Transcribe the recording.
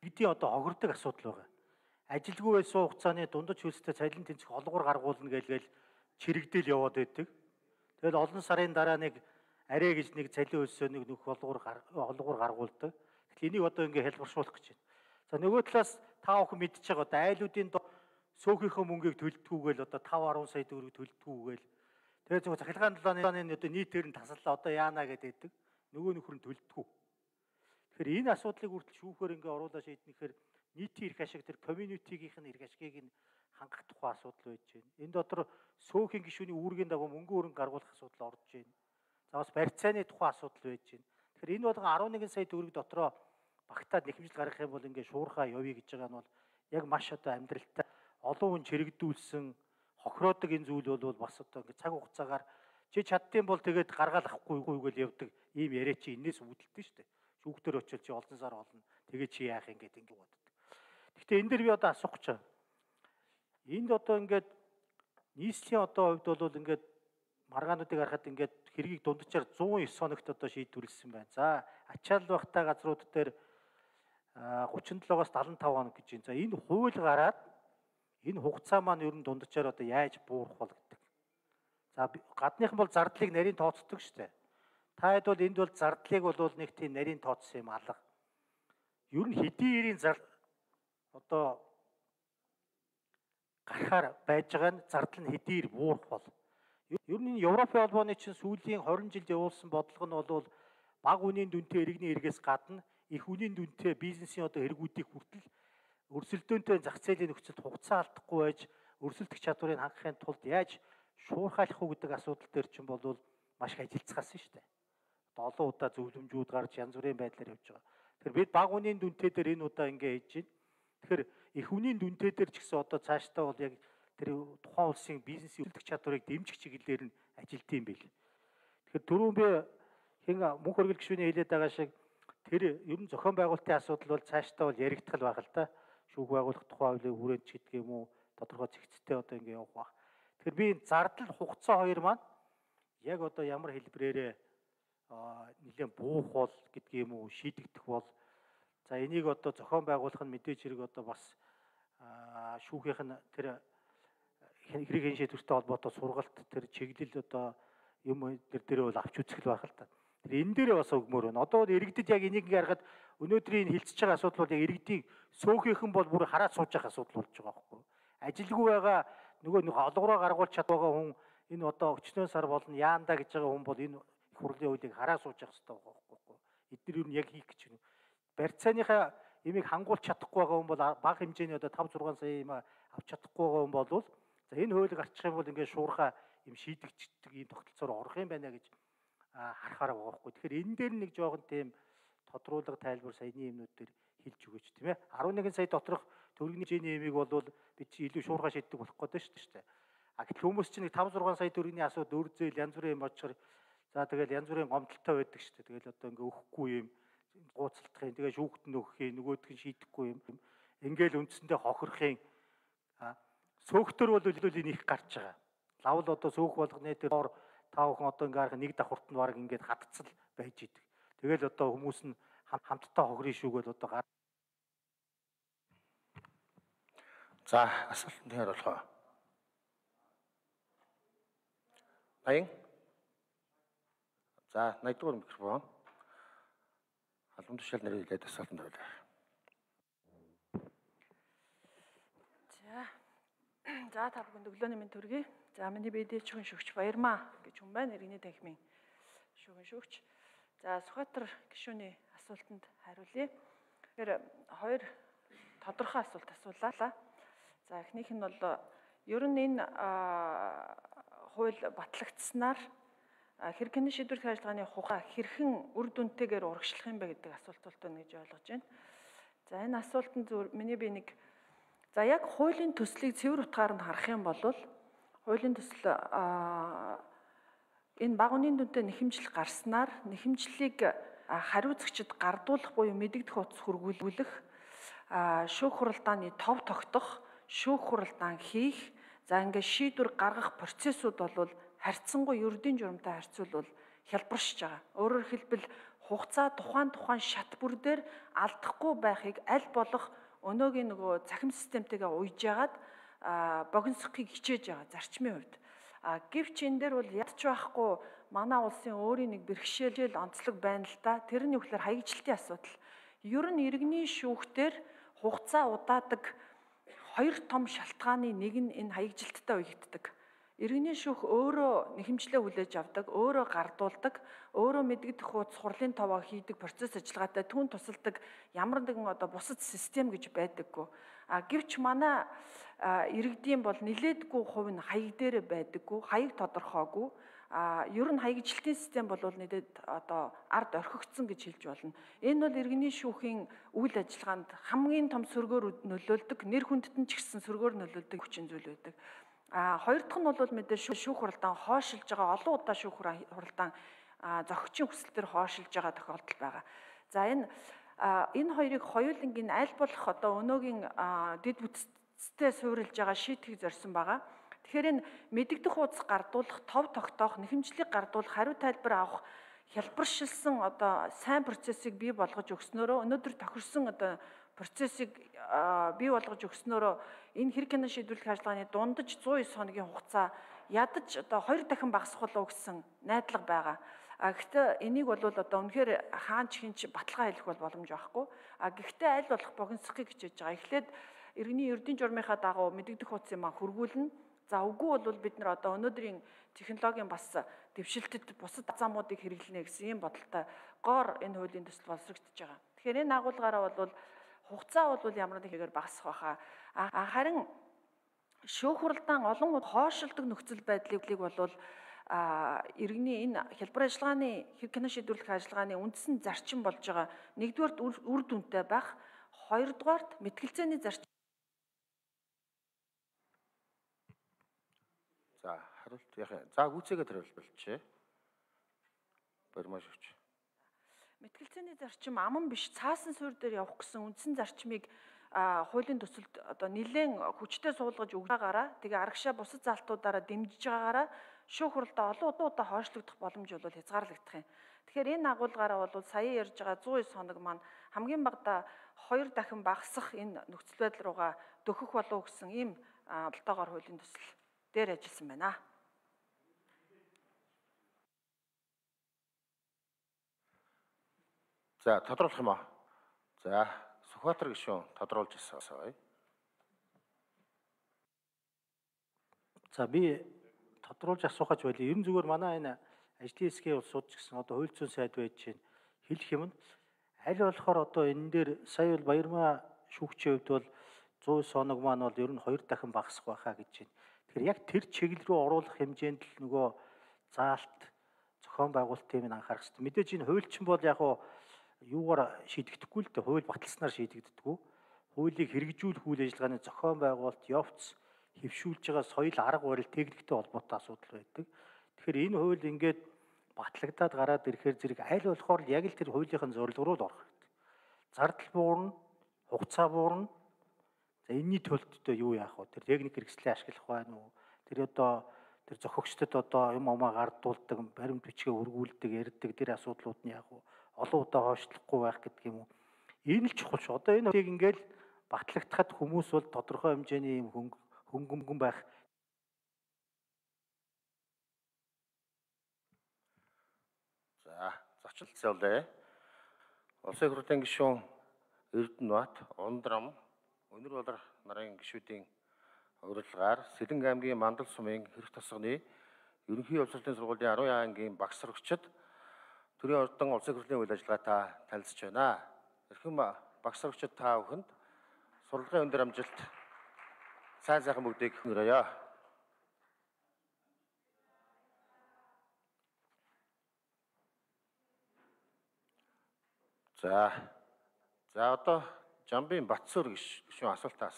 Бидний одоо хохирдог асуудал байгаа. Ажилгүй байсан хугацааны дундаж хөлстэй цалин тэнцэх олгоор гаргуулна гээл чирэгдэл яваад байдаг. Тэгэл олон сарын дараа нэг арай гэж нэг цалин хөлсөө нэг нөх олгоор гаргуулдаг. Тэгэхээр энийг одоо ингээ хэлбэршүүлэх гэж байна. За нөгөө талаас та бүхэн мэдчихэж байгаа одоо айлуудын сөөхийнхөө мөнгийг төлдгүүгээл одоо 5-10 сая төгрөг төлдгүүгээл тэгээ зөвхөн захиргааны талааны одоо нийтээр нь тасаллаа одоо яана гэдэг нөгөө нөхөр нь төлдгүү. Тэгэхээр энэ асуудлыг хүртэл шүүхээр ингээ оруулаа шийднэхээр нийтийн эрх ашиг тэр community-гийнх нь эрх ашигыг нь хангах тухай асуудал байж байна. Энэ дотор сөөхийн гишүүний үүргийн дагуу мөнгө өрн гаргуулах асуудал орж байна. За бас барьцааны тухай асуудал байж байна. Тэгэхээр энэ болгон 11 сая төгрөг дотроо багтаад нэхэмжил гаргах юм бол ингээ шуурхаа явъя гэж байгаа нь бол яг маш одоо амьдралтай олон хүн чирэгдүүлсэн хохироодог энэ зүйл бол бас одоо ингээ цаг хугацаагаар чи чаддсан бол тэгээд гаргаал авахгүй гэж явдаг ийм яриа чи энэс үүдэлтэй шүү дээ. Шүүхтэр очил чи олон сар олно. Тэгээд чи яах юм гэдэг ингээ боддог. Гэхдээ энэ дэр би одоо асуух гэж байна. Энд одоо ингээд нийслэлийн одоо хувьд бол ингээд маргаануудыг харахад ингээд хэргийг дунджаар 109 хоногт одоо шийдвэрлсэн байна. За ачаал багтаа газрууд дээр 37-оос 75 хоног гэж байна. За энэ хууль гараад энэ хугацаа маань ер нь дунджаар одоо яаж буурах бол гэдэг. За гадныхан бол зардлыг нарийн тооцдог шүү дээ. Та хэд бол энд бол зардлыг бол нэг тийм нарийн тооцсон юм алга. Ер нь хэдийн эрийн зардал одоо гарахаар байж байгаа нь зардал нь хэдийр буурах бол. Ер нь Европын холбооны чинь сүүлийн 20 жилд явуулсан бодлого нь бол бага үнийн дүнтэй иргэний эргээс гадна их үнийн дүнтэй бизнесийн одоо хэрэгүүдийг хүртэл өрсөлдөөнтэй зах зээлийн нөхцөлд хугацаа алдахгүй байж өрсөлдөх чадварыг хангахын тулд яаж шуурхайлах уу гэдэг асуудал дээр чинь бол маш их ажиллацгаасан шүү дээ. Одоо олон удаа зөвлөмжүүд гарч янз бүрийн байдлаар явж байгаа. Тэгэхээр бид бага үнийн дүнтэй дээр энэ удаа ингэ хийж байна. Тэгэхээр их үнийн дүнтэй дээр ч гэсэн одоо цаашдаа бол яг тэр тухайн улсын бизнесийн өрсөлдөх чадварыг дэмжих чиглэлээр нь ажилт юм байл. Тэгэхээр түрүүн би мөнх хөргөл гишүүний хэлээд байгаа шиг тэр ер нь зохион байгуулалтын асуудал бол цаашдаа бол яригдах байх л да. Шүүх байгуулах тухай хуулийн хүрээнд ч гэдэг юм уу тодорхой зэгцтэй одоо ингэ явах байх. Тэгэхээр би зардал хугацаа хоёр маань яг одоо ямар хэлбэрээр нэлээд буух бол гэдгийг юм уу шийдэгдэх бол за энийг одоо зохион байгуулах нь мэдээж хэрэг одоо бас шүүхийнх нь тэр хэрэг хэн шийдвэртэй холбоотой сургалт тэр чиглэл одоо юм дээр бол авч үзэх л байх л та. Тэр энэ дээр бас өгмөр байна. Одоо иргэдэд яг энийг ингээ харахад өнөөдрийн хилцэж байгаа асуудал бол яг иргэдийг сөөхийнхэн бол бүр хараад сууж явах асуудал болж байгаа байхгүй. Ажилгүй байгаа нөгөө нэг олгороо гаргуулж чадвагаа хүн энэ одоо өчнөө сар болно яандаа гэж байгаа хүн бол энэ их хурлын хуулийг хараад сууж явах хэрэгтэй байгаа байхгүй. Эдгээр юу яг хийх гэж байна. Барьцааныхаа имийг хангуулж чадахгүй байгаа хүн бол бага хэмжээний одоо 5-6 сая юм авч чадахгүй байгаа хүн бол за энэ хуулийг арчих юм бол ингээд шуурхаа юм шийдэгчдэг ийм тогтолцоор орох юм байна гэж харахаар байгаа байхгүй. Тэгэхээр энэ дээр нэг жоохон тийм тодруулга тайлбар саяны юмнууд дээр хэлж өгөөч тийм ээ. 11 сая доторх төгрөгийн хэмжээний имийг бол бид чи илүү шуурхаа шийддэг болох гэдэг шүү дээ. Гэтэл хүмүүс чинь 5-6 сая төгрөгийн асуудал өр зээл янз бүрийн юм очихор за тэгэл янз бүрийн гомдолтой байдаг шүү дээ. Тэгэл одоо ингээ өгөхгүй юм гууцалтахын тэгээ шүүхт нь өгөх юм нөгөөдг нь шийдэхгүй юм. Ингээл үндсэндээ хохирохын сөөхтөр бол энийг гарч байгаа. Лавл одоо сөөх болгоны дээр та бүхэн одоо ингээ харах нэг давхурт нь баг ингээд хатцал байж идэг. Тэгэл одоо хүмүүс нь хамтдаа хохирын шүүгээл одоо гар. За асуултанд хариулах. Аян. За 80 дугаар микрофон. Албан тушаал нэрийг хэлээд асуултанд хариулъя. За та бүхэнд өглөөний мэнд төргий. За миний BD шүүгэн шүүгч Баярмаа гэж хүн байна. Иргэний танхимын шүүгэн шүүгч. За Сүхбаатар гишүүний асуултанд хариулъя. Тэгэхээр хоёр тодорхой асуулт асуулаа. За эхнийх нь бол ер нь энэ хууль батлагдсанаар хэрхэн шийдвэрлэх ажиллагааны хугацаа хэрхэн үр дүнтэйгээр урагшлах юм бэ гэдэг асуулт байна гэж ойлгож байна. За энэ асуултанд миний би нэг за яг хуулийн төслийг цэвэр утгаар нь харах юм бол хуулийн төсөл энэ бага үнийн дүнтэй нэхэмжил гарснаар нэхэмжлийг хариуцагчид гардуулах буюу мэдэгдэх утас хүргүүлэх шүүх хуралдааны тов тогтох шүүх хуралдаан хийх за ингээд шийдвэр гаргах процессууд бол харьцангуй ердийн журамтай харьцуулбал хялбаршиж байгаа. Өөрөөр хэлбэл хугацаа тухайн шат бүр дээр алдахгүй байхыг аль болох өнөөгийн нөгөө цахим системтэйгээ уйж яагаад богиносхийг хичээж байгаа зарчмын хувьд. Гэвч энэ дээр бол ядч байхгүй манай улсын өөрийн нэг бэрхшээл онцлог байна л да. Тэр нь юу гэхээр хаягжилтын асуудал. Ер нь иргэний шүүхтэр хугацаа удаадаг хоёр том шалтгааны нэг нь энэ хаягжилттай уягддаг. Иргэний шүүх өөрөө нэхэмжлээ хүлээж авдаг, өөрөө гардуулдаг, өөрөө мэдэгдэх хуудас хурлын товоо хийдэг процесс ажиллагаатай түүн тусалдаг ямар нэгэн бусад систем гэж байдаггүй. Гэвч манай иргэдийн бол нилээдгүй хувь нь хаяг дээр байдаггүй, хаяг тодорхойгүй. Ер нь хаягжилтын систем бол нэдэд ард орхигдсон гэж хэлж болно. Энэ бол иргэний шүүхийн үйл ажиллагаанд хамгийн том сөргөөр нөлөөлдөг, нэр хүндэд нь ч гэсэн сөргөөр нөлөөлдөг хүчин зүйл байдаг. Хоёр дахь нь бол мэдээ шүүх хуралдаан хойшилж байгаа, олон удаа шүүх хуралдаан зохицын хүсэлтээр хойшилж байгаа тохиолдол байгаа. За энэ хоёрыг хоёулангийн аль болох өнөөгийн дэд бүтцтэй суурилж байгаа шийтгэх зорьсон байгаа. Тэгэхээр энэ мэдэгдэх хуудас гардуулах, тов тогтоох, нэхэмжлийг гардуулах, хариу тайлбар авах, хялбаршилсан сайн процессыг бий болгож өгснөөрөө өнөөдөр тохирсон процессыг бий болгож өгснөөрөө энэ хэрэг кино шийдвэрлэх ажиллагааны дундаж 109 хоногийн хугацаа ядаж 2 дахин багасгах болов гэсэн найдлага байгаа. Гэхдээ энийг бол үнэхээр хаанч хинч баталгаа хэлэх бол боломж байхгүй. Гэхдээ аль болох богиносхийг хичээж байгаа. Эхлээд иргэний ердийн журмынхаа дагуу мэдэгдэх хуудсыг хургуулна. За үгүй бол бид нар өнөөдрийн технологийн бас дэвшилтэд бусад замуудыг хэрэглэнэ гэсэн ийм бодолтой гоор энэ хуулийн төсөл боловсрогдож байгаа. Тэгэхээр энэ агуулгаараа бол хугацаа бол ямар нэг хэгээр багасах байхаа. Харин шүүх хуралдаан олон удаа хойшилдог нөхцөл байдлыг бол иргэний энэ хялбар ажиллагааны хэрэг кино шийдвэрлэх ажиллагааны үндсэн зарчим болж байгаа. Нэгдүгээрт үр дүнтэй байх, хоёрдугаарт мэтгэлцээний зарчим. За хариулт яах юм? За гүйцээгээ хариулбалчээ. Баримаш өгч. Мэтгэлцээний зарчим аман биш цаасан суурь дээр явах гэсэн үндсэн зарчмыг хуулийн төсөлд нэлээд хүчтэй суулгаж өгаагаараа тэгээ аргашаа бусад залтуудаараа дэмжиж байгаагаараа шүүх хуралдаа олон удаа хойшлогдох боломж бол хязгаарлагдах юм. Тэгэхээр энэ агуулгаараа бол сая ярьж байгаа 109 хоног маань хамгийн багадаа 2 дахин багасах энэ нөхцөл байдал руугаа дөхөх болов гэсэн ийм болтоогоор хуулийн төсөл дээр ажилласан байна. За тодруулах юм аа. За Сүхбаатар гишүүн тодруулж асууя. За би тодруулж асуухаж байлаа. Ер нь зүгээр манай энэ ажлын хэсгийн улсууд ч гэсэн хууль зүйн сайд байж чинь хэлэх юм нь аль болохоор энэ дээр сая бол Баярмаа шүүгчийн хувьд бол 109 хоног маань бол ер нь 2 дахин багасах байхаа гэж байна. Тэгэхээр яг тэр чиглэл рүү оруулах хэмжээнд л нөгөө заалт зохион байгуулалтын нь анхаарах хэрэгтэй. Мэдээж энэ хуульчин бол яг юугаар шийдэгдэхгүй л дээ. Хууль баталснаар шийдэгддэггүй. Хуулийг хэрэгжүүлэх үйл ажиллагааны зохион байгуулалт, явц, хэвшүүлж байгаа соёл, арга барил, техниктэй холбоотой асуудал байдаг. Тэгэхээр энэ хууль ингээд батлагдаад гараад ирэхээр зэрэг аль болохоор яг л тэр хуулийнхын зорилго руу л орох хэрэгтэй. Зардал буурна, хугацаа буурна. За энэний төлөлт юу яах вэ? Тэр техник хэрэгслээ ашиглах байна уу? Тэр тэр зохиогчдод юм гардуулдаг, баримт бичгээ өргүүлдэг, ярьдаг тэр асуудлууд нь яах вэ? Олон удаа хойшлохгүй байх гэдэг юм уу? Энэ л чухал шүү. Энэ үеийг ингээл батлагдахад хүмүүс бол тодорхой хэмжээний юм хөнгөн байх. За зочлолцоолээ. Улсын их хурлын гишүүн Эрдэнэбаат, Ундрам, Өнөр болор нарын гишүүдийн урилгаар Сэлэнг аймгийн Мандал сумын хэрэг тосгоны ерөнхий явцлалын сургуулийн 10 ангийн багш сурагчид төрийн ордон улсын хурлын үйл ажиллагаатай танилцж байна. Эрхэм багш сурагчид та бүхэнд сурлагын өндөр амжилт сайхан бүгдийг хүсье. За одоо Жамбын Батсуур гишүүн асуултаа